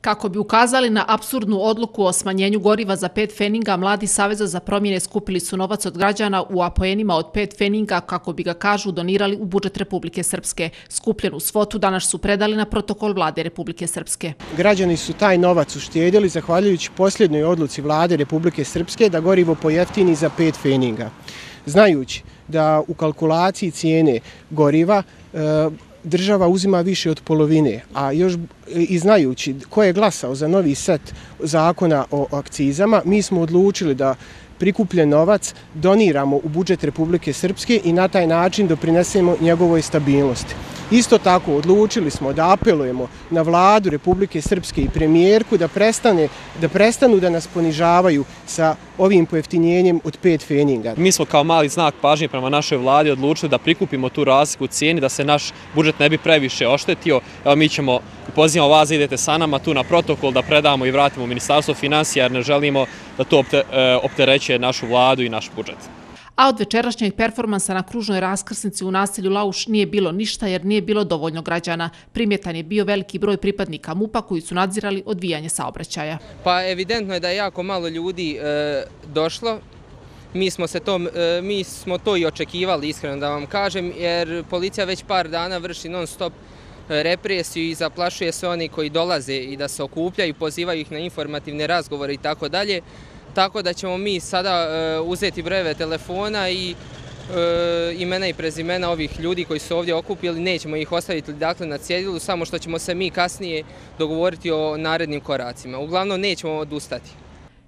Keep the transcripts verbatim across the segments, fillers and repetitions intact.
Kako bi ukazali na apsurdnu odluku o smanjenju goriva za pet feninga, mladi Saveza za promjene skupili su novac od građana u apoenima od pet feninga kako bi ga, kažu, donirali u budžet Republike Srpske. Skupljenu svotu danas su predali na protokol vlade Republike Srpske. Građani su taj novac uštedjeli zahvaljujući posljednjoj odluci vlade Republike Srpske da gorivo pojeftini za pet feninga. Znajući da u kalkulaciji cijene goriva država uzima više od polovine, a još i znajući ko je glasao za novi set zakona o akcizama, mi smo odlučili da prikupljen novac doniramo u budžet Republike Srpske i na taj način doprinesemo njegovoj stabilnosti. Isto tako odlučili smo da apelujemo na vladu Republike Srpske i premijerku da prestane, da prestanu da nas ponižavaju sa ovim pojeftinjenjem od pet feninga. Mi smo kao mali znak pažnje prema našoj vladi odlučili da prikupimo tu razliku cijeni, da se naš budžet ne bi previše oštetio. Evo, mi ćemo, pozivamo vas da idete sa nama tu na protokol, da predamo i vratimo u Ministarstvo financija, jer ne želimo da to opterećuje našu vladu i naš budžet. A od večerašnjeg performansa na kružnoj raskrsnici u naselju Lauš nije bilo ništa jer nije bilo dovoljno građana. Primjetan je bio veliki broj pripadnika MUP-a koji su nadzirali odvijanje saobraćaja. Pa evidentno je da je jako malo ljudi e, došlo. Mi smo, se to, e, mi smo to i očekivali, iskreno da vam kažem, jer policija već par dana vrši non stop represiju i zaplašuje sve oni koji dolaze i da se okupljaju, pozivaju ih na informativne razgovore i tako dalje. Tako da ćemo mi sada uh, uzeti brojeve telefona i uh, imena i prezimena ovih ljudi koji su ovdje okupili, nećemo ih ostaviti dakle, na cjedilu, samo što ćemo se mi kasnije dogovoriti o narednim koracima. Uglavnom nećemo odustati.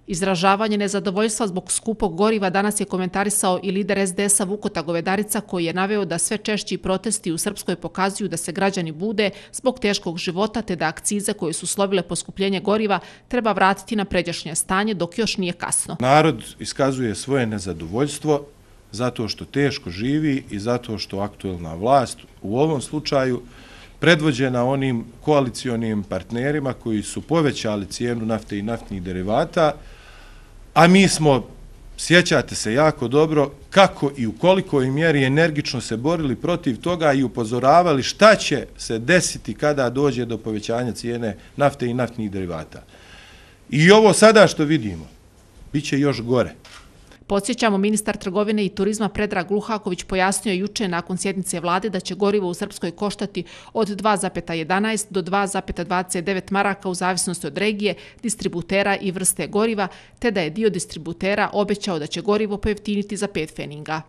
Izražavanje nezadovoljstva zbog skupog goriva danas je komentarisao i lider es de es a Vukota Govedarica, koji je naveo da sve češći protesti u Srpskoj pokazuju da se građani bude zbog teškog života, te da akcize koje su slovile poskupljenje goriva treba vratiti na pređašnje stanje dok još nije kasno. Narod iskazuje svoje nezadovoljstvo zato što teško živi i zato što aktuelna vlast u ovom slučaju predvođena onim koalicionim partnerima koji su povećali cijenu nafte i naftnih derivata, a mi smo, sjećate se jako dobro, kako i u kolikoj mjeri energično se borili protiv toga i upozoravali šta će se desiti kada dođe do povećanja cijene nafte i naftnih derivata. I ovo sada što vidimo, bit će još gore. Podsjećamo, ministar trgovine i turizma Predrag Luhaković pojasnio juče nakon sjednice vlade da će gorivo u Srpskoj koštati od dva zarez jedanaest do dva zarez dvadeset devet maraka u zavisnosti od regije, distributera i vrste goriva, te da je dio distributera obećao da će gorivo pojeftiniti za pet feninga.